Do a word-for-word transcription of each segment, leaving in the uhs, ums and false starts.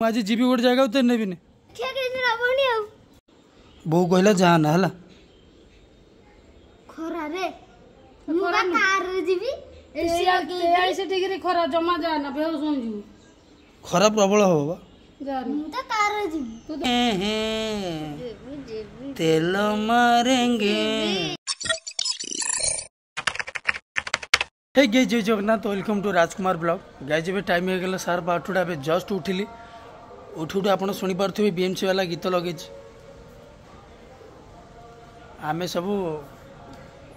ମୁଁ ଆଜି ଯିବି ଗୋଟେ ଜାଗାକୁ, ତୋତେ ନେବିନି। ଦେଖିଆ କେମିତି ନବନି ଆଉ। ବୋଉ କହିଲା ଯା ନା ହେଲା। ଖରାରେ ମୁଁ ବା କାରରେ ଯିବି, ଏସି ଲଗେଇକି। ତେୟାଳିଶ ଡିଗ୍ରୀ ଖରା, ଜମା ଯାନା, ବେହୋସ ହେଇଯିବୁ। ଖରା ପ୍ରବଳ ହବ ବା। ଯାନି। ମୁଁ ତ କାରରେ ଯିବି। ଯିବି ଯିବି। ତେଲ ମାରେଙ୍ଗେ। ହେ ଗେ, Jai Jagannath, welcome to Rajkumar blog. Guys, ଏବେ ଟାଇମ୍ ହେଇଗଲା ସାର୍ପ ଆଠଟା। ଏବେ ଜଷ୍ଟ ଉଠିଲି। ଉଠୁ ଉଠୁ ଆପଣ ଶୁଣିପାରୁଥିବେ ବିଏମ୍ସି ବାଲା ଗୀତ ଲଗେଇଛି, ଆମେ ସବୁ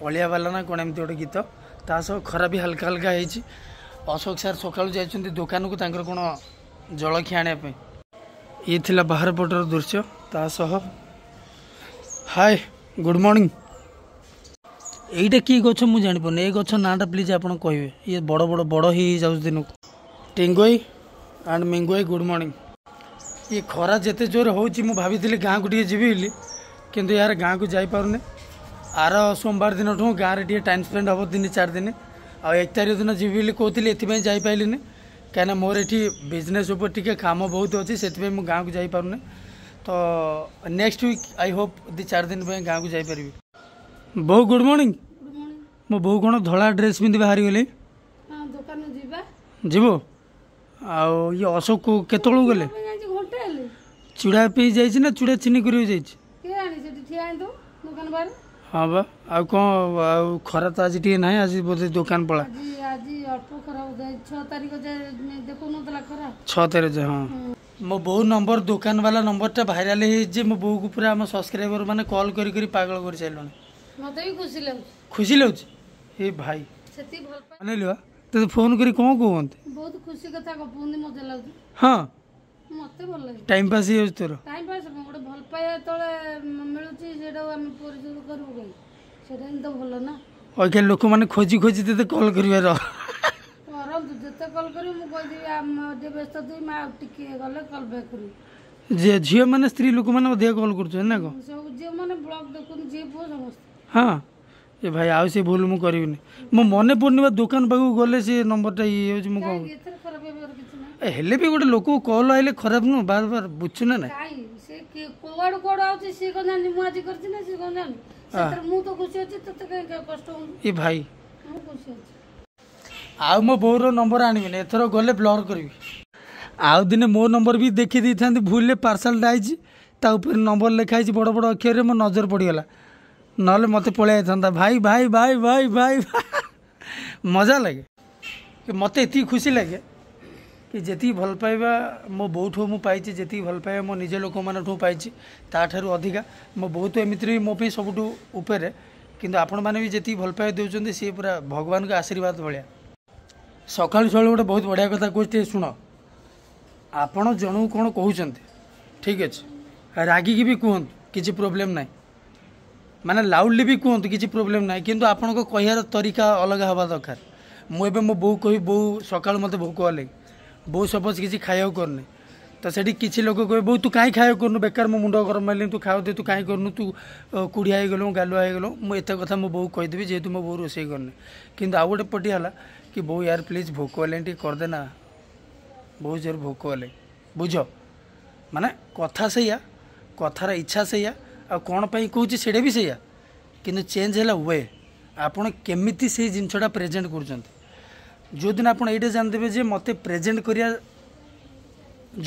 ଅଳିଆ ବାଲା ନା କ'ଣ ଏମିତି ଗୋଟେ ଗୀତ। ତା ସହ ଖରା ବି ହାଲକା ହାଲକା ହେଇଛି। ଅଶୋକ ସାର୍ ସକାଳୁ ଯାଇଛନ୍ତି ଦୋକାନକୁ ତାଙ୍କର କ'ଣ ଜଳଖିଆ ଆଣିବା ପାଇଁ। ଇଏ ଥିଲା ବାହାର ପଟର ଦୃଶ୍ୟ। ତା ସହ ହାଏ, ଗୁଡ଼୍ ମର୍ଣ୍ଣିଂ। ଏଇଟା କି ଗଛ ମୁଁ ଜାଣିପାରୁନି। ଏ ଗଛ ନାଁଟା ପ୍ଲିଜ୍ ଆପଣ କହିବେ। ଇଏ ବଡ଼ ବଡ଼ ବଡ଼ ହେଇ ଯାଉଛି ଦିନକୁ। ଟିଙ୍ଗୋଇ ଆଣ୍ଡ ମିଙ୍ଗୋଇ, ଗୁଡ଼୍ ମର୍ଣ୍ଣିଂ। ଇଏ ଖରା ଯେତେ ଜୋରେ ହେଉଛି, ମୁଁ ଭାବିଥିଲି ଗାଁକୁ ଟିକେ ଯିବି ବୋଲି, କିନ୍ତୁ ୟାର ଗାଁକୁ ଯାଇପାରୁନି। ଆର ସୋମବାର ଦିନଠୁ ଗାଁରେ ଟିକେ ଟାଇମ୍ ସ୍ପେଣ୍ଡ ହେବ ତିନି ଚାରି ଦିନ। ଆଉ ଏକ ତାରିଖ ଦିନ ଯିବି ବୋଲି କହୁଥିଲି, ଏଥିପାଇଁ ଯାଇପାରିଲିନି କାହିଁକିନା ମୋର ଏଠି ବିଜନେସ୍ ଉପରେ ଟିକେ କାମ ବହୁତ ଅଛି, ସେଥିପାଇଁ ମୁଁ ଗାଁକୁ ଯାଇପାରୁନି। ତ ନେକ୍ସଟ ୱିକ୍ I Hope ଦୁଇ ଚାରି ଦିନ ପାଇଁ ଗାଁକୁ ଯାଇପାରିବି। ବୋଉ, ଗୁଡ଼୍ ମର୍ଣ୍ଣିଂ। Good morning. ମୋ ବୋଉ କ'ଣ ଧଳା ଡ୍ରେସ୍ ପିନ୍ଧି ବାହାରିଗଲେ? ହଁ, ଦୋକାନ ଯିବା। ଯିବ? ଆଉ ଇଏ ଅଶୋକ କେତେବେଳକୁ ଗଲେ? ପାଇଁ ଯାଇଛି ଘଣ୍ଟେ ହେଲେ। ଚୁଡ଼ା ପିଇ ଯାଇଛି ନା ଚୁଡ଼ା ଚିନି କରିବାକୁ ଯାଇଛି? କିଏ ଜାଣି, ସେଠି ଠିଆ ହେଇଥିବ ଦୋକାନ ବାହାରେ। ହଁ ବା। ଆଉ କ'ଣ, ଆଉ ଖରା ତ ଆଜି ଟିକେ ନାହିଁ, ଆଜି ବୋଧେ ଦୋକାନ ପଳା। ଆଜି ଆଜି ଅଳ୍ପ ଖରା ବୋଧେ, ଛଅ ତାରିଖ ଯାଏ ଦେଖୁନଥିଲା ଖରା। ଛଅ ତାରିଖ ଯାଏ, ହଁ। ମୋ ବୋଉ ନମ୍ବର, ଦୋକାନ ବାଲା ନମ୍ବରଟା ଭାଇରାଲ ହେଇଯାଇଛି ଯେ ମୋ ବୋଉକୁ ପୁରା ଆମ ସବସ୍କ୍ରାଇବର ମାନେ କଲ୍ କରି କରି ପାଗଳ କରି ସାରିଲଣି। ମତେ ବି ଖୁସି ଲାଗୁଛି। ଖୁସି ଲାଗୁଛି ଏ ଭାଇ। ସେତିକି ଭଲ ପାଏ। ଅନେଇଲୁ ବା, ତୋତେ ଫୋନ୍ କରି କ'ଣ କୁହନ୍ତି? ବହୁତ ଖୁସି କଥା ଗପୁଛନ୍ତି, ମଜା ଲାଗୁଛି। ହଁ, ମତେ ଭଲ ଲାଗେ। ଟାଇମ୍ ପାସ୍ ହେଇଯାଉଛି ତୋର? ଟାଇମ୍ ପାସ୍ କଣ, ଗୋଟେ ଭଲ ପାଇବା ଯେତେବେଳେ ମିଳୁଛି, ସେଇଟାକୁ ଆମେ ପରିଶୋଧ କରିବୁ କାହିଁ? ସେଇଟା ହିଁ ତ ଭଲ ନା। ଅଇଖା ଲୋକମାନେ ଖୋଜି ଖୋଜି ତୋତେ କଲ୍ କରିବାର। କରନ୍ତୁ, ଯେତେ କଲ୍ କରିବୁ, ମୁଁ କହିଦେବି ଆମ ଟିକେ ବ୍ୟସ୍ତ ଥିବି ମା, ଆଉ ଟିକେ ଗଲେ କଲ୍ ବ୍ୟାକ୍ କରିବି। ଯେ ଝିଅମାନେ, ସ୍ତ୍ରୀ ଲୋକମାନେ ଅଧିକା କଲ୍ କରୁଛନ୍ତି ନା କ'ଣ? ସବୁ ଝିଅମାନେ ବ୍ଲଗ୍ ଦେଖୁଛନ୍ତି, ଝିଅ ପୁଅ ସମସ୍ତେ। ହଁ, ଏ ଭାଇ, ଆଉ ସେ ଭୁଲ ମୁଁ କରିବିନି। ମୋ ମନେ ପଡ଼ୁନି ବା, ଦୋକାନ ପାଖକୁ ଗଲେ ସେ ନମ୍ବରଟା ଇଏ ହେଇଯାଉଛି। ମୁଁ କ'ଣ କାହିଁକି, ଏଥିରେ ଖରାପ ହେବାର କିଛି ନାହିଁ। ଏ ହେଲେ ବି ଗୋଟେ ଲୋକକୁ କଲ୍ ଆଇଲେ ଖରାପ ନୁହଁ ବାର ବାର, ବୁଝଛୁ ନା ନାଇଁ? କାଇଁ, ସେ କିଏ- କୁଆଡୁ କୁଆଡୁ ଆଉଛି, ସିଏ କଣ ଜାଣିଛି ମୁଁ ଆଜି କରିଛି ନା? ସିଏ କଣ ଜାଣିଛି? ସେଥିରେ ମୁଁ ତ ଖୁସି ଅଛି, ତତେ କାହିଁ କଷ୍ଟ ହଉନି? ଏ ଭାଇ, ମୁଁ ଖୁସି ଅଛି। ଆଉ ମୋ ବୋଉର ନମ୍ବର ଆଣିବିନି, ଏଥର ଗଲେ ବ୍ଲର୍ କରିବି। ଆଉ ଦିନେ ମୋ ନମ୍ବର ବି ଦେଖି ଦେଇଥାନ୍ତି ଭୁଲରେ। ପାର୍ସଲଟା ଆଇଛି, ତା ଉପରେ ନମ୍ବର ଲେଖା ହେଇଛି ବଡ଼ ବଡ଼ ଅକ୍ଷରରେ, ମୋ ନଜର ପଡ଼ିଗଲା, ନହେଲେ ମୋତେ ପଳେଇ ଯାଇଥାନ୍ତା। ଭାଇ ଭାଇ ଭାଇ ଭାଇ ଭାଇ, ମଜା ଲାଗେ କି ମୋତେ ଏତିକି ଖୁସି ଲାଗେ କି ଯେତିକି ଭଲ ପାଇବା ମୋ ବୋଉଠୁ ମୁଁ ପାଇଛି, ଯେତିକି ଭଲ ପାଇବା ମୋ ନିଜ ଲୋକମାନଠୁ ପାଇଛି, ତାଠାରୁ ଅଧିକା ମୋ ବୋଉ ତ ଏମିତିରେ ବି ମୋ ପାଇଁ ସବୁଠୁ ଉପରେ, କିନ୍ତୁ ଆପଣମାନେ ବି ଯେତିକି ଭଲ ପାଇବା ଦେଉଛନ୍ତି, ସିଏ ପୁରା ଭଗବାନଙ୍କ ଆଶୀର୍ବାଦ ଭଳିଆ। ସକାଳୁ ସକାଳୁ ଗୋଟେ ବହୁତ ବଢ଼ିଆ କଥା କହୁଛି, ଟିକେ ଶୁଣ। ଆପଣ ଜଣକୁ କ'ଣ କହୁଛନ୍ତି, ଠିକ୍ ଅଛି, ରାଗିକି ବି କୁହନ୍ତୁ, କିଛି ପ୍ରୋବ୍ଲେମ୍ ନାହିଁ, ମାନେ ଲାଉଡ଼ଲି ବି କୁହନ୍ତୁ, କିଛି ପ୍ରୋବ୍ଲେମ୍ ନାହିଁ, କିନ୍ତୁ ଆପଣଙ୍କ କହିବାର ତରିକା ଅଲଗା ହେବା ଦରକାର। ମୁଁ ଏବେ ମୋ ବୋଉ କହିବି, ବୋଉ ସକାଳୁ ମୋତେ ଭୋକ ହେଲେ, ବୋଉ ସପୋଜ୍ କିଛି ଖାଇବାକୁ କରୁନି, ତ ସେଠି କିଛି ଲୋକ କହିବେ, ବୋଉ ତୁ କାହିଁ ଖାଇବାକୁ କରୁନୁ, ବେକାର ମୋ ମୁଣ୍ଡ ଗରମ ହେଲେଣି, ତୁ ଖାଉ ଦେ, ତୁ କାହିଁ କରୁନୁ, ତୁ ଅ, କୁଢ଼ିଆ ହେଇଗଲୁ, ଗାଲୁଆ ହେଇଗଲୁ। ମୁଁ ଏତେ କଥା ମୋ ବୋଉ କହିଦେବି ଯେହେତୁ ମୋ ବୋଉ ରୋଷେଇ କରୁନି। କିନ୍ତୁ ଆଉ ଗୋଟେ ପଟି ହେଲା କି ବୋଉ ୟାର ପ୍ଲିଜ୍ ଭୋକ ହେଲେଣି, ଟିକେ କରିଦେ ନା, ବହୁତ ଜୋର ଭୋକ ହେଲେ। ବୁଝ, ମାନେ କଥା ସେଇଆ, କଥାର ଇଚ୍ଛା ସେଇଆ, ଆଉ କ'ଣ ପାଇଁ କହୁଛି ସେଇଟା ବି ସେଇଆ, କିନ୍ତୁ ଚେଞ୍ଜ ହେଲା we, ଆପଣ କେମିତି ସେଇ ଜିନିଷଟା ପ୍ରେଜେଣ୍ଟ କରୁଛନ୍ତି। ଯେଉଁଦିନ ଆପଣ ଏଇଟା ଜାଣିଦେବେ ଯେ ମୋତେ ପ୍ରେଜେଣ୍ଟ କରିବା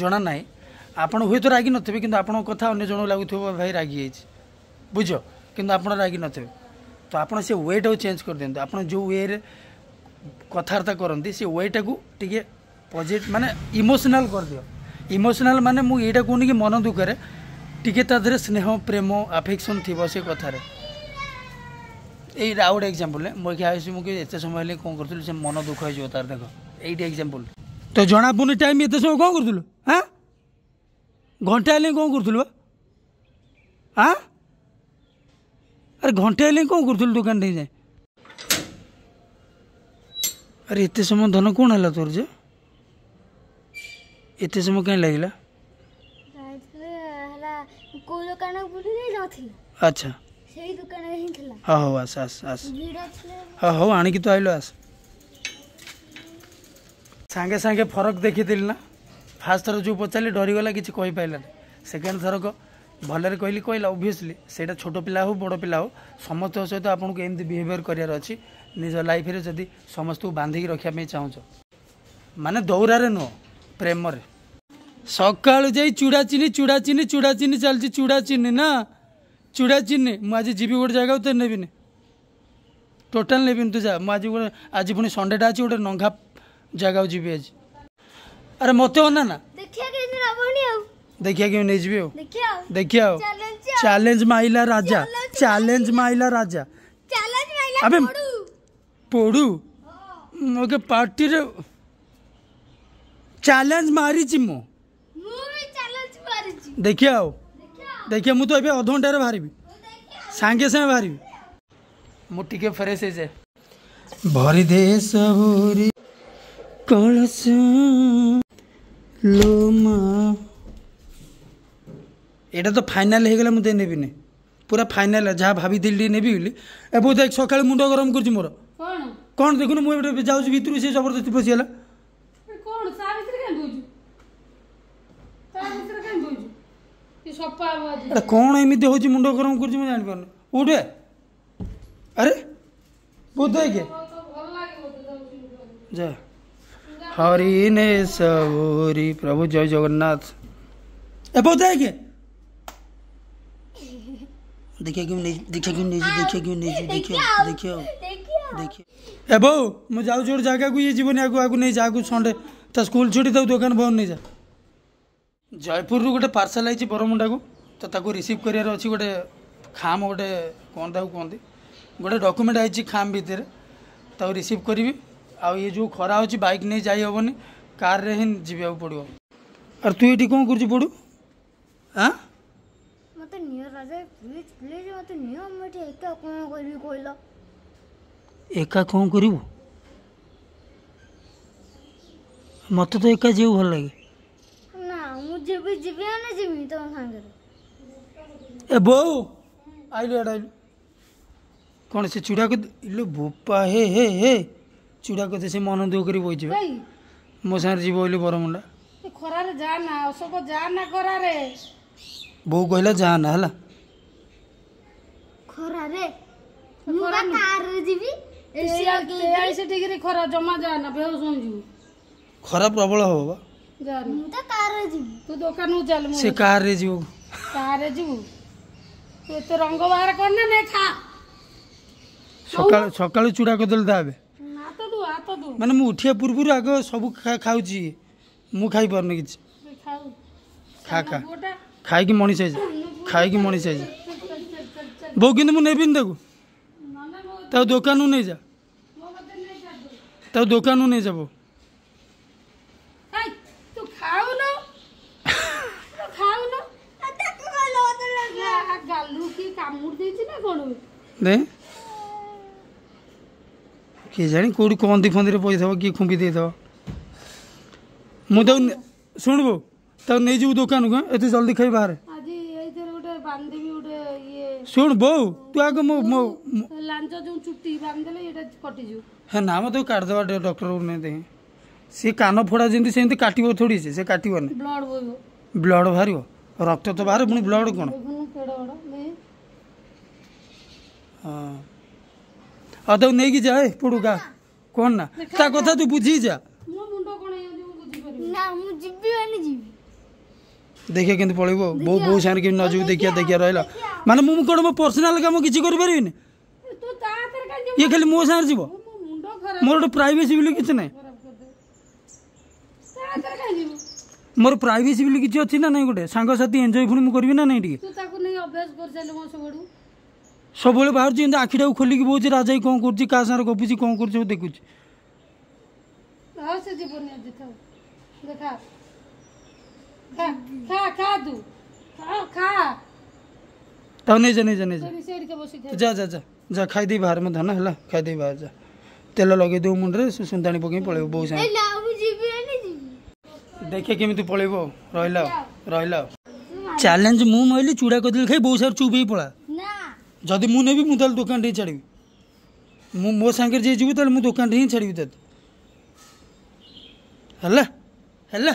ଜଣା ନାହିଁ, ଆପଣ ହୁଏତ ରାଗି ନଥିବେ, କିନ୍ତୁ ଆପଣଙ୍କ କଥା ଅନ୍ୟ ଜଣକୁ ଲାଗୁଥିବ ଭାଇ ରାଗି ଯାଇଛି, ବୁଝ, କିନ୍ତୁ ଆପଣ ରାଗି ନଥିବେ। ତ ଆପଣ ସେ ୱେଟାକୁ ଚେଞ୍ଜ କରିଦିଅନ୍ତୁ। ଆପଣ ଯେଉଁ ୱେରେ କଥାବାର୍ତ୍ତା କରନ୍ତି, ସେ ୱେଟାକୁ ଟିକେ ପଜିଟିଭ, ମାନେ ଇମୋସନାଲ୍ କରିଦିଅ। ଇମୋସନାଲ୍ ମାନେ ମୁଁ ଏଇଟା କହୁନି କି ମନ ଦୁଃଖରେ, ଟିକେ ତା ଦେହରେ ସ୍ନେହ, ପ୍ରେମ, ଆଫେକ୍ସନ୍ ଥିବ ସେ କଥାରେ। ଏଇଟା ଆଉ ଗୋଟେ ଏକ୍ଜାମ୍ପଲ୍। ମୁଁ ଏଠି ଆସୁଛି, ମୁଁ କହିବି ଏତେ ସମୟ ହେଲେ କ'ଣ କରୁଥିଲୁ, ସେ ମନ ଦୁଃଖ ହେଇଯିବ ତାର। ଦେଖ, ଏଇଠି ଏକ୍ଜାମ୍ପଲ୍ ତ ଜଣା ପଡ଼ୁନି ଟାଇମ୍। ଏତେ ସମୟ କ'ଣ କରୁଥିଲୁ? ହାଁ, ଘଣ୍ଟା ହେଲେ କ'ଣ କରୁଥିଲୁ ବା? ଆଁ, ଆରେ ଘଣ୍ଟା ହେଲେ କ'ଣ କରୁଥିଲୁ ଦୋକାନ ଠେଇଁ ଯାଏ? ଆରେ ଏତେ ସମୟ ଧନ କ'ଣ ହେଲା ତୋର ଯେ ଏତେ ସମୟ କାହିଁ ଲାଗିଲା? ଯାଇଥିଲି ହେଲା କୋଉ ଦୋକାନ ବୁଲି ନଥିଲା। ଆଚ୍ଛା। ସେଇ ଦୋକାନରେ ହିଁ ଥିଲା। ହଉ ହଉ, ଆସ ଆସ ଆସ। ଭିଡ଼ ଥିଲା। ହଉ ହଉ, ଆଣିକି ତ ଆଇଲୁ, ଆସ। ସାଙ୍ଗେ ସାଙ୍ଗେ ଫରକ ଦେଖିଥିଲି ନା? ଫାର୍ଷ୍ଟ ଥର ଯେଉଁ ପଚାରିଲି ଡରିଗଲା, କିଛି କହିପାରିଲାନି। ସେକେଣ୍ଡ ଥରକ ଭଲରେ କହିଲି, କହିଲା। ଅବଭିୟସଲି ସେଇଟା ଛୋଟ ପିଲା ହଉ, ବଡ଼ ପିଲା ହଉ, ସମସ୍ତଙ୍କ ସହିତ ଆପଣଙ୍କୁ ଏମିତି ବିହେଭିଅର କରିବାର ଅଛି ନିଜ ଲାଇଫରେ, ଯଦି ସମସ୍ତଙ୍କୁ ବାନ୍ଧିକି ରଖିବା ପାଇଁ ଚାହୁଁଛ। ମାନେ ଦୌରାରେ ନୁହଁ, ପ୍ରେମରେ। ସକାଳୁ ଯାଇ ଚୁଡ଼ା ଚିନି, ଚୁଡ଼ା ଚିନି, ଚୁଡ଼ା ଚିନି ଚାଲିଛି। ଚୁଡ଼ା ଚିନି ନା, ଚୁଡ଼ା ଚିନି। ମୁଁ ଆଜି ଯିବି ଗୋଟେ ଜାଗାକୁ, ତ ନେବିନି, ଟୋଟାଲ ନେବିନି। ତୁ ଯା। ମୁଁ ଆଜି ଗୋଟେ, ଆଜି ପୁଣି ସଣ୍ଡେଟା ଅଛି, ଗୋଟେ ନଙ୍ଘା ଜାଗାକୁ ଯିବି ଆଜି। ଆରେ ମୋତେ ଅନା ନା। ଦେଖିବା କେମିତି ନବନି ଆଉ। ଦେଖିବା କେମିତି ନେଇଯିବି ଆଉ। ଦେଖିବା ଆଉ। ଦେଖିବା ଆଉ। ଚ୍ୟାଲେଞ୍ଜ। ଚ୍ୟାଲେଞ୍ଜ ମାଇଲା ରାଜା, ଚ୍ୟାଲେଞ୍ଜ ମାଇଲା ରାଜା। ଚ୍ୟାଲେଞ୍ଜ ମାଇଲା। ଆବେ। ପଡୁ। ପୋଡ଼ୁ ଓକେ, ପାର୍ଟିରେ ଚ୍ୟାଲେଞ୍ଜ ମାରିଛି ମୁଁ। ମୁଁ ବି ଚ୍ୟାଲେଞ୍ଜ ମାରିଛି। ଦେଖିବା ଆଉ। ଦେଖିବା। ଦେଖିବା, ମୁଁ ତ ଏବେ ଅଧଘଣ୍ଟାରେ ବାହାରିବି, ସାଙ୍ଗେ ସାଙ୍ଗେ ବାହାରିବି। ମୁଁ ଟିକେ ଫ୍ରେଶ ହେଇଯାଏ। ଭରି ଦେ ସବୁରି କଳସ ଲୋ ମା। ଏଇଟା ତ ଫାଇନାଲ ହେଇଗଲା, ମୁଁ ଦେଇ ନେବିନି। ପୁରା ଫାଇନାଲ, ଯାହା ଭାବିଥିଲି ଟିକେ ନେବି ବୋଲି। ଏ ବୋଉ, ଦେଖ, ସକାଳୁ ମୁଣ୍ଡ ଗରମ କରୁଛି ମୋର। କଣ? କ'ଣ ଦେଖୁନୁ, ମୁଁ ଏବେ ଯାଉଛି ଭିତରୁ, ସେ ଜବରଦସ୍ତି ପଶିଗଲା। ଏ କଣ ତା ଭିତରେ କାଇଁ ଦଉଛୁ? ତା ଭିତରେ କାଇଁ ଦଉଛୁ? କି ସଫା ହବ ଆଜି। ଏଟା କ'ଣ ଏମିତି ହେଉଛି, ମୁଣ୍ଡ ଗରମ କରୁଛି, ମୁଁ ଜାଣିପାରୁନି। ଉଠେ। ଆରେ ବୋଉ, ଦେଖେ। ତ ଭଲ ଲାଗିବ ତ ଯାଉଛି। ଯା ହରି ନେ ସଉରି ପ୍ରଭୁ, ଜୟ ଜଗନ୍ନାଥ। ଏ ବୋଉ, ଦେଖେ, ଦେଖିଆ କେମିତି ନେଇଛି, ଦେଖିଆ କେମିତି ନେଇଛି, ଦେଖିଆ କେମିତି ନେଇଛି, ଦେଖିଆ, ଦେଖିଆ, ଦେଖିବା। ଦେଖିଆ। ଏ ବୋଉ, ମୁଁ ଯାଉଛି ଗୋଟେ ଜାଗାକୁ, ଇଏ ଯିବନି। ଆଗକୁ ଆଗକୁ ନେଇ ଯା ଆଗକୁ। ସଣ୍ଡେ, ତା ସ୍କୁଲ ଛୁଟି, ତାକୁ ଦୋକାନ ବନ୍ଦ, ନେଇଯା। ଜୟପୁରରୁ ଗୋଟେ ପାର୍ସଲ ଆଇଛି ବରମୁଣ୍ଡାକୁ, ତ ତାକୁ ରିସିଭ୍ କରିବାର ଅଛି। ଗୋଟେ ଖାମ, ଗୋଟେ କ'ଣ ତାକୁ କୁହନ୍ତି, ଗୋଟେ ଡକୁମେଣ୍ଟ ଆଇଛି ଖାମ ଭିତରେ, ତାକୁ ରିସିଭ୍ କରିବି। ଆଉ ଇଏ ଯେଉଁ ଖରା ହେଉଛି, ବାଇକ୍ ନେଇ ଯାଇ ହେବନି, କାରରେ ହିଁ ଯିବାକୁ ପଡ଼ିବ। ଆରେ ତୁ ଏଇଠି କ'ଣ କରୁଛୁ ପଡ଼ୁ? ଆଁ? ମତେ ନିଅ ରାଜା, ପ୍ଲିଜ ପ୍ଲିଜ, ମତେ ନିଅ। ମୁଁ ଏଠି ଏକା କଣ କରିବି କହିଲ? ଏକା କ'ଣ କରିବୁ? ମୋତେ ତ ଏକା ଯିବାକୁ ଭଲ ଲାଗେ। ନା, ମୁଁ ଯିବି, ଯିବି ମାନେ ଯିବି ତମ ସାଙ୍ଗରେ। ଏ ବୋଉ, ଆଇଲୁ, ଏଇଟା ଆଇଲୁ। କ'ଣ ସେ ଚୁଡ଼ା ଇଲୋ ବୋପା, ହେ ହେ ହେ, ଚୁଡ଼ା କଥା ସେ ମନ ଦୁଃଖ କରି ବଇଯିବ। କାଇଁ? ମୋ ସାଙ୍ଗରେ ଯିବ ବୋଲି ବରମୁଣ୍ଡା। ଏ ଖରାରେ ଯା ନା ଅଶୋକ, ଯା ନା ଖରାରେ। ବୋଉ କହିଲା ଯା ନା, ହେଲା। ଖରାରେ ମୁଁ ବା କାରରେ ଯିବି, ଏସି ଲଗେଇକି। ତେୟାଳିଶ ଡିଗ୍ରୀ ଖରା, ଜମା ଯା ନା, ବେହୋସ ହେଇଯିବୁ। ଖରା ପ୍ରବଳ ହବ ବା। ଯା ନା। ମୁଁ ତ କାରରେ ଯିବି। ତୁ ଦୋକାନକୁ ଚାଲ, ମୁଁ ସେ କାରରେ ଯିବ। କାରରେ ଯିବୁ? ତୁ ଏତେ ରଙ୍ଗ ବାହାର କରନା, ନେ ଖା। ସକାଳୁ ସକାଳୁ ଚୁଡ଼ା କଦଳୀ ତା ଏବେ। ହାତ ଧୁ, ହାତ ଧୁ। ମାନେ ମୁଁ ଉଠିବା ପୂର୍ବରୁ ଆଗ ସବୁ ଖା- ଖାଉଛି, ମୁଁ ଖାଇପାରୁନି କିଛି। ଖାଉ। ଖା ଖା। ପୁଅଟା। ଖାଇକି ମଣିଷ ହେଇଯା, ଖାଇକି ମଣିଷ ହେଇଯା। ବୋଉ, କିନ୍ତୁ ମୁଁ ନେବିନି ତାକୁ। ନନା, ମୋ ତାକୁ ଦୋକାନକୁ ନେଇଯା। ମୋ କତିରେ ନେଇ ଛାଡ଼ିଦେ। ତାକୁ ଦୋକାନକୁ ନେଇଯା ବୋଉ। ଏଇ, ତୁ ଖାଉନୁ, ତୁ ଖାଉନୁ। ତାକୁ କହିଲ ମତେ ଲାଗିଲା। ଆ, ଗାଲୁ କି କାମୁଡି ଦେଇଛି ନା କଣ? ଦେ। କିଏ ଜାଣି କୋଉଠି କନ୍ଦି ଫନ୍ଦିରେ ପଇଥିବ, କିଏ ଖୁମ୍ପି ଦେଇଥିବ। ମୁଁ ତାକୁ ନେ- ଶୁଣୁ ବୋଉ, ତାକୁ ନେଇଯିବୁ ଦୋକାନକୁ, ଆଁ? ଏତେ ଜଲ୍ଦି ଖାଇ ବାହାରେ। ଆଜି ଏଇଥିରେ ଗୋଟେ ବାନ୍ଧିବି ଗୋଟେ ଇଏ। ଶୁଣ ବୋଉ, ତୁ ଆଗ ମୋ ମୋ ମୋ- ଲାଞ୍ଜ ଯୋଉ ଚୁଟି ବାନ୍ଧିଦେଲେ ଏଇଟା କଟିଯିବ। ହେ ନା, ମ ତାକୁ କାଟିଦେବା ଡକ୍ଟରକୁ ନେଇ। ଦେଖି, ସିଏ କାନ ଫୋଡ଼ା ଯେମିତି ସେମିତି କାଟିବ ଥୋଡ଼ି, ସେ ସେ କାଟିବନି। ବ୍ଲଡ ବୋହିବ। ବ୍ଲଡ଼ ବାହାରିବ? ରକ୍ତ ତ ବାହାରେ, ପୁଣି ବ୍ଲଡ଼ କ'ଣ? ଦେଖୁନୁ କେଡେ ବଡ ନେ। ହଁ, ଆଉ ତାକୁ ନେଇକି ଯା। ଏ ପୋଡ଼ୁ ଗା, କ'ଣ ନା, ତା କଥା ତୁ ବୁଝିକି ଯା। ମୋ ମୁଣ୍ଡ କଣ ହେଇଯାଉଛି, ମୁଁ ବୁଝିପାରିବି। ନା, ମୁଁ ଯିବି ମାନେ ଯିବି। ଦେଖିବା କେମିତି ପଳେଇବ ଆଉ। ବୋଉ ବୋଉ ସାଙ୍ଗରେ କେମିତି ନ ଯିବୁ, ଦେଖିବା, ଦେଖିବା ରହିଲା। ମାନେ ମୁଁ କ'ଣ ମୋ ପର୍ସନାଲ କାମ କିଛି କରିପାରିବିନି? ତୁ ତା ହାତରେ କାଇଁ ଯିବୁ? ଇଏ ଖାଲି ମୋ ସାଙ୍ଗରେ ଯିବ। ମୋ ମୁଣ୍ଡ ଖରାପ ମୋର ଗୋଟେ ପ୍ରାଇଭେସି ବୋଲି କିଛି ନାହିଁ। ଖରାପ କରିଦେ। ତା ହାତରେ କାଇଁ ଯିବୁ? ମୋର ପ୍ରାଇଭେସି ବୋଲି କିଛି ଅଛି ନା ନାହିଁ? ଗୋଟେ ସାଙ୍ଗସାଥି ଏନ୍ଜୟ ପୁଣି ମୁଁ କରିବି ନା ନାହିଁ ଟିକେ? ତୁ ତାକୁ ନେଇ ଅଭ୍ୟାସ କରିସାରିଲୁ କଣ ସବୁଆଡୁ? ସବୁବେଳେ ବାହାରୁଛି, ଏମିତି ଆଖିଟାକୁ ଖୋଲିକି ବଉଛି, ରାଜା ଭାଇ କ'ଣ କରୁଛି, କାହା ସାଙ୍ଗରେ ଗପୁଛି, କ'ଣ କରୁଛି, ସବୁ ଦେଖୁଛି। ଆଉ ସେ ଯିବନି ଆଜି, ଥାଉ। ଦେଖା, ଖା ଖା ଖା, ତୁ ଖା ଖା। ତାକୁ ନେଇଯା, ନେଇଯା, ନେଇଯା। ସେଇଠି ସେଇଠି ବସି ତୁ ଯା ଯା ଯା ଯା, ଖାଇଦେଇ ବାହାରେ ମୋ ଧନ, ହେଲା? ଖାଇଦେଇ ବାହାରେ ଯା। ତେଲ ଲଗେଇ ଦେବୁ ମୁଣ୍ଡରେ, ସେ ସୁନ୍ଦାଣି ପକେଇ ପଳେଇବ ବୋଉ ଏ ସାଙ୍ଗେ। ନା, ମୁଁ ଯିବି ମାନେ ଯିବି। ଦେଖେ କେମିତି ପଳେଇବ ଆଉ। ରହିଲା ଆଉ, ରହିଲା ଆଉ। ଚ୍ୟାଲେଞ୍ଜ ମୁଁ ମାଇଲି, ଚୁଡ଼ା କଦଳୀ ଖାଇ ବୋଉ ସାଙ୍ଗରେ ଚୁପ୍ ହେଇ ପଳା। ନା। ଯଦି ମୁଁ ନେବି, ମୁଁ ତାହେଲେ ଦୋକାନଠି ହିଁ ଛାଡ଼ିବି। ମୁଁ ମୋ ସାଙ୍ଗରେ ଯିଏ ଯିବୁ, ତାହେଲେ ମୁଁ ଦୋକାନଠି ହିଁ ଛାଡ଼ିବି ତତେ। ହେଲା ହେଲା।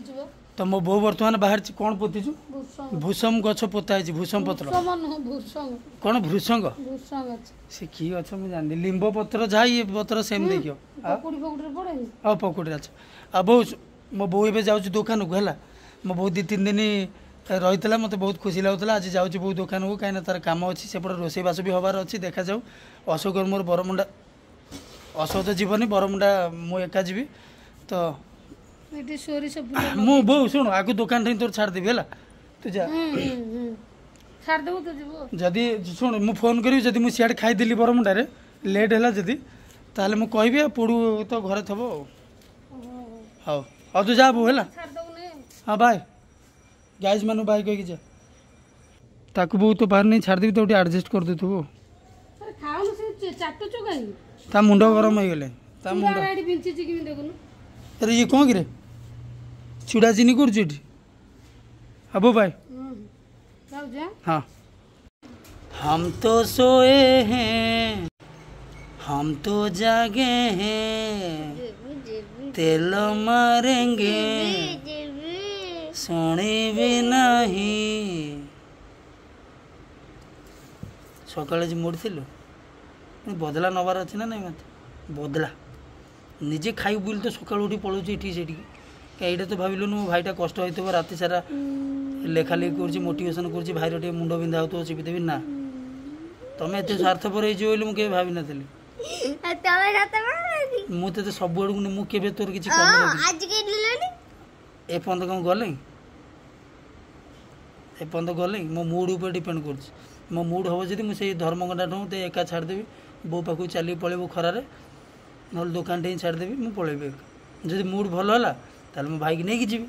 ପୋତୁଛି ବା। ତ ମୋ ବୋଉ ବର୍ତ୍ତମାନ ବାହାରିଛି। କ'ଣ ପୋତିଛୁ? ଭୃଷଙ୍ଗ। ଭୂଷମ ଗଛ ପୋତା ହେଇଛି, ଭୂଷମ ପତ୍ର। ଭୃଷମ ନୁହଁ, ଭୃଷଙ୍ଗ। କ'ଣ ଭୃଷଙ୍ଗ? ଭୃଷଙ୍ଗ ଗଛ। ସେ କି ଗଛ ମୁଁ ଜାଣିନି। ଲିମ୍ବ ପତ୍ର ଯାହା, ଇଏ ପତ୍ର ସେମ୍ ଦେଖିବ। ଆଉ ପକୁଡ଼ି ଫକୁଡ଼ିରେ ପଡ଼େନି? ଆଉ ପକୁଡ଼ିରେ ଅଛି। ଆଉ ବୋଉ, ମୋ ବୋଉ ଏବେ ଯାଉଛି ଦୋକାନକୁ। ହେଲା, ମୋ ବୋଉ ଦୁଇ ତିନି ଦିନ ରହିଥିଲା, ମୋତେ ବହୁତ ଖୁସି ଲାଗୁଥିଲା। ଆଜି ଯାଉଛି ବୋଉ ଦୋକାନକୁ, କାହିଁକିନା ତାର କାମ ଅଛି, ସେପଟେ ରୋଷେଇବାସ ବି ହେବାର ଅଛି। ଦେଖାଯାଉ। ଅଶୋକର ମୋର ବରମୁଣ୍ଡା, ଅଶୋକ ତ ଯିବନି ବରମୁଣ୍ଡା, ମୁଁ ଏକା ଯିବି ତ। ଏଠି ସୋରିଷ ଫୁଲ। ମୁଁ ବୋଉ ଶୁଣୁ, ଆଗକୁ ଦୋକାନ ଠେଇଁ ତୋର ଛାଡ଼ିଦେବି, ହେଲା? ତୁ ଯା। ହୁଁ ହୁଁ ହୁଁ ଛାଡ଼ିଦେବୁ, ତୁ ଯିବୁ। ଯଦି ଶୁଣୁ, ମୁଁ ଫୋନ୍ କରିବି। ଯଦି ମୁଁ ସିଆଡ଼େ ଖାଇଦେଲି ବରମୁଣ୍ଡାରେ, ଲେଟ୍ ହେଲା ଯଦି, ତାହେଲେ ମୁଁ କହିବି। ଆଉ ପୋଡ଼ୁ ତ ଘରେ ଥିବ। ଆଉ ହଉ ହଉ, ତୁ ଯା ବୋଉ, ହେଲା? ଛାଡ଼ିଦେବୁ ନେ। ହଁ, ବାଏ ଗାଇଜ୍ ମାନଙ୍କୁ ବାଏ କହିକି ଯା। ତାକୁ ବୋଉ ତୋ ବାହାରେ ନେଇ ଛାଡ଼ିଦେବି, ତାକୁ ଟିକେ ଆଡ଼ଜଷ୍ଟ କରିଦେଇଥିବୁ। ଆରେ ଖାଉନୁ, ସେ ଚାଟୁଛୁ କାହିଁକି? ତା ମୁଣ୍ଡ ଗରମ ହେଇଗଲେ ତା ମୁଣ୍ଡ। ଚୁଡ଼ା ଏଠି ବିଞ୍ଚିଛି କେମିତି ଦେଖୁନୁ। ଆରେ ଇଏ କ'ଣ କିରେ, ଚୁଡ଼ା ଚିନି କରୁଛୁ ଏଠି? ହବ, ବାଏ। ହୁଁ, ଯାଉଛି ଆଁ। हाँ, हम तो सोए हैं, हम तो जागे हैं, ଯିବି ଯିବି। तेल मारेंगे। ଯିବି। ଶୁଣିବି ନାହିଁ। ସକାଳେ ଯେ ମୋଡ଼ିଥିଲୁ, ବଦଲା ନେବାର ଅଛି ନା ନାଇଁ ମୋତେ? ବଦଲା ନିଜେ ଖାଇବୁ ବୋଲି ତ ସକାଳୁ ଉଠି ପଳାଉଛି ଏଠିକି ସେଠିକି। କାଇଁ ଏଇଟା ତ ଭାବିଲୁନି ମୋ ଭାଇଟା କଷ୍ଟ ହେଇଥିବ, ରାତି ସାରା ଲେଖା ଲେଖି କରୁଛି, ମୋଟିଭେସନ୍ କରୁଛି, ଭାଇର ଟିକେ ମୁଣ୍ଡ ବିନ୍ଧା ହେଉଥିବ, ଚିପିଦେବି ନା। ତମେ ଏତେ ସ୍ୱାର୍ଥପର ହେଇଯିବ ବୋଲି ମୁଁ କେବେ ଭାବିନଥିଲି। ଆଉ ତମେ ସତ ଭାବୁଛି? ମୁଁ ତତେ ସବୁ ଆଡ଼କୁ ନେ- ମୁଁ କେବେ ତୋର କିଛି କମି ରଖିନି। ଆଜି କେହି ନେଲନି। ଏପର୍ଯ୍ୟନ୍ତ କ'ଣ ଗଲେ? ଏପର୍ଯ୍ୟନ୍ତ ଗଲେ ମୋ ମୁଡ୍ ଉପରେ ଡିପେଣ୍ଡ କରୁଛି। ମୋ ମୁଡ୍ ହେବ ଯଦି ମୁଁ ସେଇ ଧର୍ମଗଣ୍ଡା ଠୁ ତ ଏକା ଛାଡ଼ିଦେବି, ବୋଉ ପାଖକୁ ଚାଲିକି ପଳେଇବୁ ଖରାରେ, ନହେଲେ ଦୋକାନଟେ ହିଁ ଛାଡ଼ିଦେବି, ମୁଁ ପଳେଇବି ଏକା। ଯଦି ମୁଡ୍ ଭଲ ହେଲା ତାହେଲେ ମୁଁ ଭାଇକି ନେଇକି ଯିବି।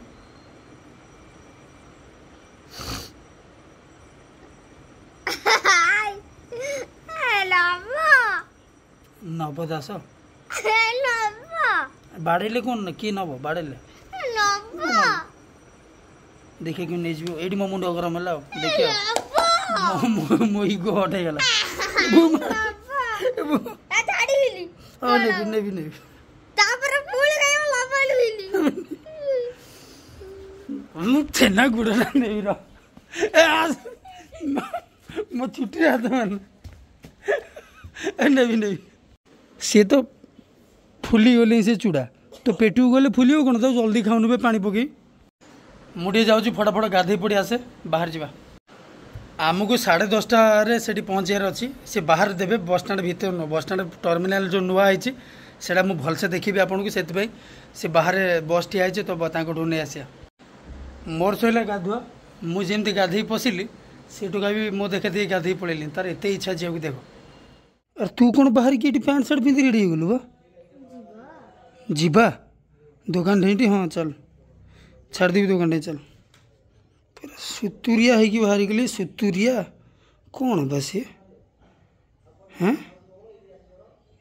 ନବ। ନବ ଦାସ। ନବ। ବାଡ଼େଇଲେ କ'ଣ ନା କିଏ ନବ ବାଡ଼େଇଲେ? ନବ। ଦେଖିବା କେମିତି ନେଇଯିବ। ଏଇଠି ମୋ ମୁଣ୍ଡ ଗରମ ହେଲା। ଆଉ ଦେଖିବା ନବ। ମୋ- ମୋ ଇଗୋ ହଟ୍ ହେଇଗଲା। ନବ, ଛାଡ଼ିବିନି। ହଁ, ନେବି ନେବି ନେବି। ତାପରେ ପୁଣି ଖାଇବ ଲବଣିବିନି। ମୁଁ ଛେନା ଗୁଡ଼ଟା ନେବି ର। ଏ ଆସ, ମୋ ଚୁଟିରେ ହାତ ମାନେ। ଏ ନେବି ନେବି। ସିଏ ତ ଫୁଲିଗଲେ, ସେ ଚୁଡ଼ା ତ ପେଟକୁ ଗଲେ ଫୁଲିବ କ'ଣ? ତାକୁ ଜଲ୍ଦି ଖାଉନୁ ବେ ପାଣି ପକେଇ। ମୁଁ ଟିକେ ଯାଉଛି, ଫଟାଫଟ ଗାଧେଇ ପଡ଼ି ଆସେ, ବାହାରି ଯିବା। ଆମକୁ ସାଢ଼େ ଦଶଟାରେ ସେଠି ପହଞ୍ଚିବାର ଅଛି। ସେ ବାହାରେ ଦେବେ, ବସଷ୍ଟାଣ୍ଡ ଭିତରେ ନୁହଁ। ବସଷ୍ଟାଣ୍ଡ ଟର୍ମିନାଲ ଯେଉଁ ନୂଆ ହେଇଛି, ସେଇଟା ମୁଁ ଭଲସେ ଦେଖିବି ଆପଣଙ୍କୁ, ସେଥିପାଇଁ ସେ ବାହାରେ ବସ୍ ଠିଆ ହେଇଛି, ତ ତାଙ୍କଠୁ ନେଇ ଆସିବା। ମୋର ସରିଲା ଗାଧୁଆ। ମୁଁ ଯେମିତି ଗାଧେଇ ପଶିଲି, ସେ ଟୋକା ବି ମୋ ଦେଖା ଦେଖି ଗାଧେଇ ପଳେଇଲି। ତାର ଏତେ ଇଚ୍ଛା ଯିବାକୁ ଦେଖ। ଆରେ ତୁ କ'ଣ ବାହାରିକି ଏଠି ପ୍ୟାଣ୍ଟ ସାର୍ଟ ପିନ୍ଧି ରେଡ଼ି ହେଇଗଲୁ ବା? ଯିବା ଦୋକାନ ଠେଇଠି। ହଁ ଚାଲ, ଛାଡ଼ିଦେବି ଦୋକାନ ଠେଇ, ଚାଲ। ପୁରା ସୁତୁରିଆ ହେଇକି ବାହାରିଗଲି। ସୁତୁରିଆ କ'ଣ ବା ସିଏ? ହେଁ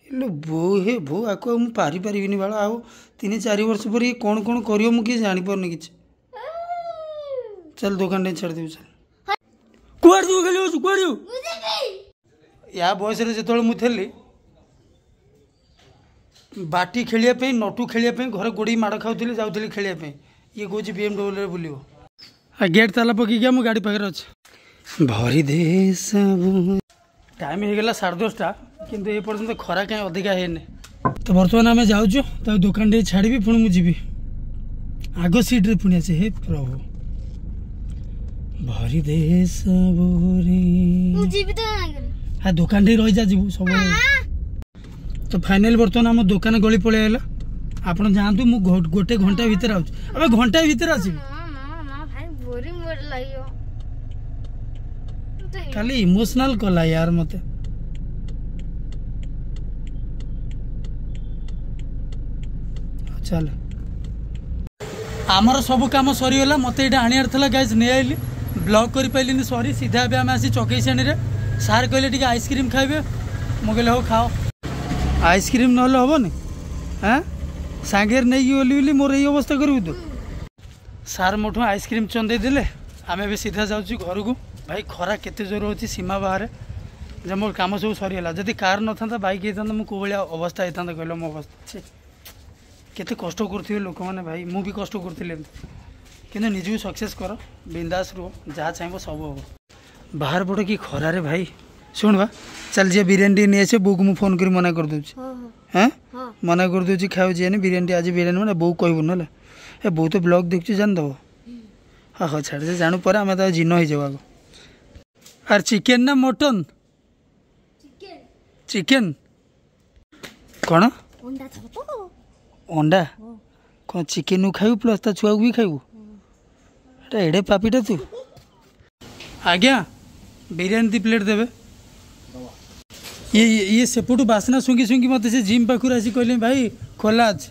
ହେଲେ ବୋଉ, ହେ ବୋଉ, ଆକୁ ଆଉ ମୁଁ ପାରିପାରିବିନି ବାଳ। ଆଉ ତିନି ଚାରି ବର୍ଷ ପରେ ଇଏ କ'ଣ କ'ଣ କରିବ ମୁଁ କିଛି ଜାଣିପାରୁନି କିଛି। ଚାଲ, ଦୋକାନ ଠେଇ ଛାଡ଼ିଦେବି, ଚାଲ। କୁଆଡ଼େ ଯିବୁ? ଖେଳି ଯାଉଛୁ, କୁଆଡ଼େ ଯିବୁ? ମୁଁ ଯିବି। ୟା ବୟସରେ ଯେତେବେଳେ ମୁଁ ଥିଲି, ବାଟି ଖେଳିବା ପାଇଁ, ନଟୁ ଖେଳିବା ପାଇଁ ଘରେ ଗୋଡ଼େଇ ମାଡ଼ ଖାଉଥିଲି, ଯାଉଥିଲି ଖେଳିବା ପାଇଁ। ଇଏ କହୁଛି ବି ଏମ୍ ଡବ୍ଲ୍ୟୁରେ ବୁଲିବ। ଆଉ ଗେଟ୍ ତାଲା ପକେଇକି ମୁଁ ଗାଡ଼ି ପାଖରେ ଅଛି। ଭରି ଦେ ସବୁ। ଟାଇମ୍ ହେଇଗଲା ସାଢ଼େ ଦଶଟା, କିନ୍ତୁ ଏ ପର୍ଯ୍ୟନ୍ତ ଖରା କାହିଁ ଅଧିକା ହେଇନି। ତ ବର୍ତ୍ତମାନ ଆମେ ଯାଉଛୁ, ତାକୁ ଦୋକାନ ଟିକେ ଛାଡ଼ିବି, ପୁଣି ମୁଁ ଯିବି। ଆଗ ସିଟ୍ରେ ପୁଣି ଅଛି। ହେ ପ୍ରଭୁ, ଭରି ଦେ ସବୁରେ। ମୁଁ ଯିବି ତ ସାଙ୍ଗରେ। ହଁ, ଦୋକାନ ଟିକେ ରହିଯା, ଯିବୁ ସବୁବେଳେ। ତ ଫାଇନାଲ ବର୍ତ୍ତମାନ ଆମ ଦୋକାନ ଗଳି ପଳେଇ ଆଇଲା। ଆପଣ ଯାଆନ୍ତୁ, ମୁଁ ଘ- ଗୋଟେ ଘଣ୍ଟା ଭିତରେ ଆଉଛି। ଆବେ ଘଣ୍ଟାଏ ଭିତରେ ଆସିବି। ନା ନା ନା ଭାଇ, ବୋରିଂ ବୋରିଂ ଲାଗିବ ମତେ। ଖାଲି ଇମୋସନାଲ କଲା ୟାର ମତେ। ଚାଲ, ଆମର ସବୁ କାମ ସରିଗଲା। ମତେ ଏଇଟା ଆଣିବାର ଥିଲା ଗାଇଜ୍, ନେଇ ଆଇଲି। ବ୍ଲଗ୍ କରିପାରିଲିନି, ସରି। ସିଧା ଏବେ ଆମେ ଆସି ଚକେଇ ଶ୍ରେଣୀରେ। ସାର୍ କହିଲେ ଟିକେ ଆଇସ୍କ୍ରିମ୍ ଖାଇବେ। ମୁଁ କହିଲି ହଉ ଖାଅ, ଆଇସ୍କ୍ରିମ୍ ନହେଲେ ହେବନି। ହାଁ, ସାଙ୍ଗରେ ନେଇକି ଗଲି ବୋଲି ମୋର ଏଇ ଅବସ୍ଥା କରିବୁ ତୁ? ସାର୍ ମୋଠୁ ଆଇସ୍କ୍ରିମ୍ ଚନ୍ଦେଇ ଦେଲେ। ଆମେ ଏବେ ସିଧା ଯାଉଛୁ ଘରକୁ। ଭାଇ, ଖରା କେତେ ଜୋର ହେଉଛି, ସୀମା ବାହାରେ ଯେ। ମୋର କାମ ସବୁ ସରିଗଲା। ଯଦି କାର୍ ନଥାନ୍ତା, ବାଇକ୍ ହେଇଥାନ୍ତା, ମୁଁ କେଉଁ ଭଳିଆ ଅବସ୍ଥା ହେଇଥାନ୍ତା କହିଲ? ମୋ ଅବସ୍ଥା ଛି। କେତେ କଷ୍ଟ କରୁଥିବେ ଲୋକମାନେ ଭାଇ। ମୁଁ ବି କଷ୍ଟ କରୁଥିଲି ଏମିତି। କିନ୍ତୁ ନିଜକୁ ସକ୍ସେସ୍ କର, ବିନ୍ଦାସ ରୁହ, ଯାହା ଚାହିଁବ ସବୁ ହେବ। ବାହାର ପଟ କି ଖରାରେ ଭାଇ। ଶୁଣ ବା, ଚାଲ ଯିଏ ବିରିୟାନୀ ଟିକେ ନେଇ ଆସିବ। ବୋଉକୁ ମୁଁ ଫୋନ୍ କରି ମନା କରିଦେଉଛି। ହଁ ହଁ। ହେଁ? ହଁ। ମନା କରିଦେଉଛି, ଖାଇବାକୁ ଯିଏନି ବିରିୟାନୀ ଟିକେ ଆଜି। ବିରିୟାନୀ ମାନେ ବୋଉ କହିବୁନି ହେଲା। ଏ ବୋଉ ତ ବ୍ଲଗ୍ ଦେଖୁଛି, ଜାଣିଦେବ। ହଁ ହଁ, ଛାଡ଼, ସେ ଜାଣୁ, ପରେ ଆମେ ତା ଜିନ ହେଇଯିବ ଆଗ। ଆର୍ ଚିକେନ୍ ନା ମଟନ୍? ଚିକେନ୍। ଚିକେନ୍ କ'ଣ? ଅଣ୍ଡା ଥବ ତ? ଅଣ୍ଡା କ'ଣ? ଚିକେନ୍କୁ ଖାଇବୁ ପ୍ଲସ୍ ତା ଛୁଆକୁ ବି ଖାଇବୁ? ଏଟା ଏଡ଼େ ପାପିଟା ତୁ। ଆଜ୍ଞା, ବିରିୟାନୀ ଦୁଇ ପ୍ଲେଟ୍ ଦେବେ। ଇଏ ଇଏ ଇଏ ସେପଟୁ ବାସ୍ନା ଶୁଙ୍ଘି ଶୁଙ୍ଘି ମୋତେ ସେ ଜିମ୍ ପାଖରୁ ଆସି କହିଲେ, ଭାଇ ଖୋଲା ଅଛି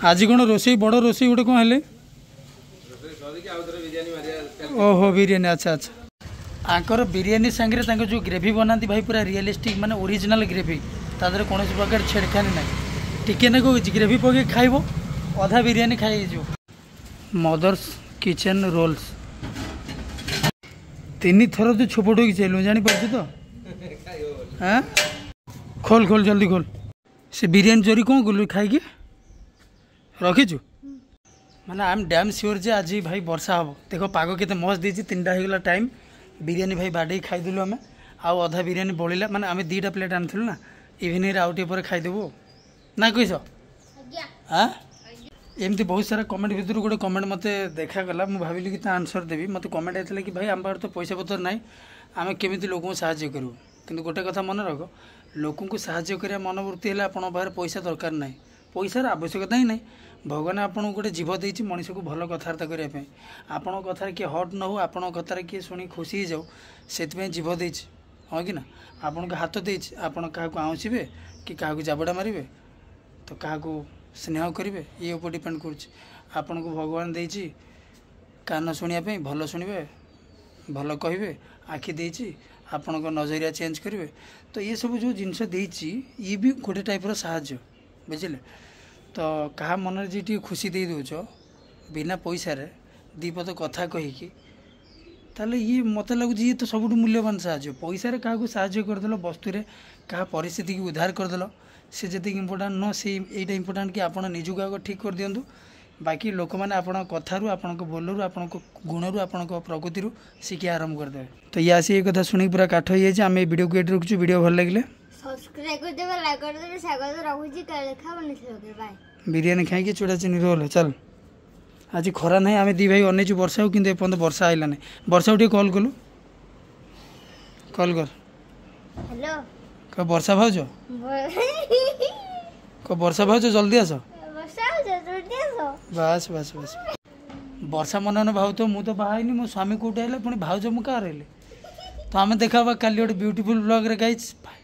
ଆଜି? କ'ଣ ରୋଷେଇ, ବଡ଼ ରୋଷେଇ ଗୋଟେ କ'ଣ ହେଲେ? ଓହୋ, ବିରିୟାନୀ, ଆଚ୍ଛା ଆଚ୍ଛା। ଆଙ୍କର ବିରିୟାନୀ ସାଙ୍ଗରେ ତାଙ୍କ ଯେଉଁ ଗ୍ରେଭି ବନାନ୍ତି ଭାଇ, ପୁରା ରିଏଲିଷ୍ଟିକ୍, ମାନେ ଓରିଜିନାଲ୍ ଗ୍ରେଭି, ତା ଦେହରେ କୌଣସି ପ୍ରକାର ଛେଡ଼ଖାନି ନାହିଁ। ଟିକେ ନାକୁ ଗ୍ରେଭି ପକେଇ ଖାଇବ, ଅଧା ବିରିୟାନୀ ଖାଇ ହେଇଯିବ। Mother's kitchen rolls. ତିନି ଥର ତୁ ଛୋପଟ ହେଇକି ଚାଲିଲୁ, ଜାଣିପାରୁଛୁ ତ? ହାଁ, ଖୋଲ ଖୋଲ, ଜଲ୍ଦି ଖୋଲ। ସେ ବିରିୟାନୀ ଚୋରି କ'ଣ କଲୁ? ଖାଇକି ରଖିଛୁ? ମାନେ I M dam sure ଯେ ଆଜି ଭାଇ ବର୍ଷା ହେବ। ଦେଖ ପାଗ କେତେ ମସ୍ତ ଦେଇଛି। ତିନିଟା ହେଇଗଲା ଟାଇମ୍। ବିରିୟାନୀ ଭାଇ ବାଡ଼େଇ ଖାଇଦେଲୁ ଆମେ, ଆଉ ଅଧା ବିରିୟାନୀ ବଳିଲା। ମାନେ ଆମେ ଦୁଇଟା ପ୍ଲେଟ୍ ଆଣିଥିଲୁ ନା। ଇଭିନିଂରେ ଆଉ ଟିକେ ପରେ ଖାଇଦେବୁ ନା କହିଛ? ଆଜ୍ଞା। ଆଁ, ଏମିତି ବହୁତ ସାରା କମେଣ୍ଟ ଭିତରୁ ଗୋଟେ କମେଣ୍ଟ ମୋତେ ଦେଖାଗଲା, ମୁଁ ଭାବିଲି କି ତା ଆନ୍ସର୍ ଦେବି। ମୋତେ କମେଣ୍ଟ ହେଇଥିଲା କି ଭାଇ, ଆମ ପାଖରେ ତ ପଇସା ପତ୍ର ନାହିଁ, ଆମେ କେମିତି ଲୋକଙ୍କୁ ସାହାଯ୍ୟ କରିବୁ? କିନ୍ତୁ ଗୋଟେ କଥା ମନେ ରଖ, ଲୋକଙ୍କୁ ସାହାଯ୍ୟ କରିବା ମନୋବୃତ୍ତି ହେଲେ ଆପଣଙ୍କ ପାଖରେ ପଇସା ଦରକାର ନାହିଁ, ପଇସାର ଆବଶ୍ୟକତା ହିଁ ନାହିଁ। ଭଗବାନ ଆପଣଙ୍କୁ ଗୋଟେ ଜିଭ ଦେଇଛି ମଣିଷକୁ ଭଲ କଥାବାର୍ତ୍ତା କରିବା ପାଇଁ। ଆପଣଙ୍କ କଥାରେ କିଏ ହଟ୍ ନ ହଉ, ଆପଣଙ୍କ କଥାରେ କିଏ ଶୁଣି ଖୁସି ହେଇଯାଉ, ସେଥିପାଇଁ ଜିଭ ଦେଇଛି, ହଁ କି ନା? ଆପଣଙ୍କୁ ହାତ ଦେଇଛି, ଆପଣ କାହାକୁ ଆଉଁସିବେ କି କାହାକୁ ଜାବଡ଼ା ମାରିବେ, ତ କାହାକୁ ସ୍ନେହ କରିବେ, ଇଏ ଉପରେ ଡିପେଣ୍ଡ କରୁଛି। ଆପଣଙ୍କୁ ଭଗବାନ ଦେଇଛି କାନ ଶୁଣିବା ପାଇଁ, ଭଲ ଶୁଣିବେ, ଭଲ କହିବେ। ଆଖି ଦେଇଛି, ଆପଣଙ୍କ ନଜରିଆ ଚେଞ୍ଜ କରିବେ। ତ ଏସବୁ ଯେଉଁ ଜିନିଷ ଦେଇଛି, ଇଏ ବି ଗୋଟେ ଟାଇପ୍ର ସାହାଯ୍ୟ, ବୁଝିଲେ ତ? କାହା ମନରେ ଯେ ଟିକେ ଖୁସି ଦେଇ ଦେଉଛ ବିନା ପଇସାରେ, ଦୁଇ ପଦ କଥା କହିକି, ତାହେଲେ ଇଏ ମୋତେ ଲାଗୁଛି ଇଏ ତ ସବୁଠୁ ମୂଲ୍ୟବାନ ସାହାଯ୍ୟ। ପଇସାରେ କାହାକୁ ସାହାଯ୍ୟ କରିଦେଲ, ବସ୍ତୁରେ କାହା ପରିସ୍ଥିତିକି ଉଦ୍ଧାର କରିଦେଲ, ସେ ଯେତିକି ଇମ୍ପୋର୍ଟାଣ୍ଟ ନୁହଁ, ସେଇ ଏଇଟା ଇମ୍ପୋର୍ଟାଣ୍ଟ କି ଆପଣ ନିଜକୁ ଆଗ ଠିକ୍ କରିଦିଅନ୍ତୁ। ବାକି ଲୋକମାନେ ଆପଣଙ୍କ କଥାରୁ, ଆପଣଙ୍କ ବୋଲରୁ, ଆପଣଙ୍କ ଗୁଣରୁ, ଆପଣଙ୍କ ପ୍ରକୃତିରୁ ଶିଖିବା ଆରମ୍ଭ କରିଦେବେ। ତ ଇଏ ଆସି ଏ କଥା ଶୁଣିକି ପୁରା କାଠ ହେଇଯାଇଛି। ଆମେ ଏ ଭିଡ଼ିଓକୁ ଏଇଠି ରଖୁଛୁ। ଭିଡ଼ିଓ ଭଲ ଲାଗିଲେ ସବସ୍କ୍ରାଇବ୍ କରିଦେବେ, ଲାଇକ୍ କରିଦେବେ, ସେୟାର କରିଦେବେ। ରଖୁଛି, କାଲି ଦେଖା ହବ ନେକ୍ସଟ। ବାଏ। ବିରିୟାନୀ ଖାଇକି ଚୁଡ଼ା ଚିନି ରୋଲ ଚାଲ। ଆଜି ଖରା ନାହିଁ, ଆମେ ଦୁଇ ଭାଇ ଅନେଇଛୁ ବର୍ଷାକୁ, କିନ୍ତୁ ଏପର୍ଯ୍ୟନ୍ତ ବର୍ଷା ଆଇଲା ନାହିଁ। ବର୍ଷାକୁ ଟିକେ କଲ୍ କଲୁ, କଲ୍ କର। ହ୍ୟାଲୋ। କହ ବର୍ଷା ଭାଉଜ, କହ ବର୍ଷା ଭାଉଜ ଜଲ୍ଦି ଆସ। ବର୍ଷା ହଉଛି, ଜଲ୍ଦି ଆସ। ବାସ୍ ବାସ୍ ବାସ୍। ବର୍ଷା ମନେ ମନେ ଭାବୁଥିବ, ମୁଁ ତ ବାହା ହେଇନି, ମୋ ସ୍ୱାମୀ କୋଉଠି ହେଲେ, ପୁଣି ଭାଉଜ ମୁଁ କାହାର ହେଲେ? ତ ଆମେ ଦେଖା ହେବା କାଲି ଗୋଟେ ବ୍ୟୁଟିଫୁଲ୍ ବ୍ଲଗ୍ରେ ଗାଇଜ୍। ବାଏ।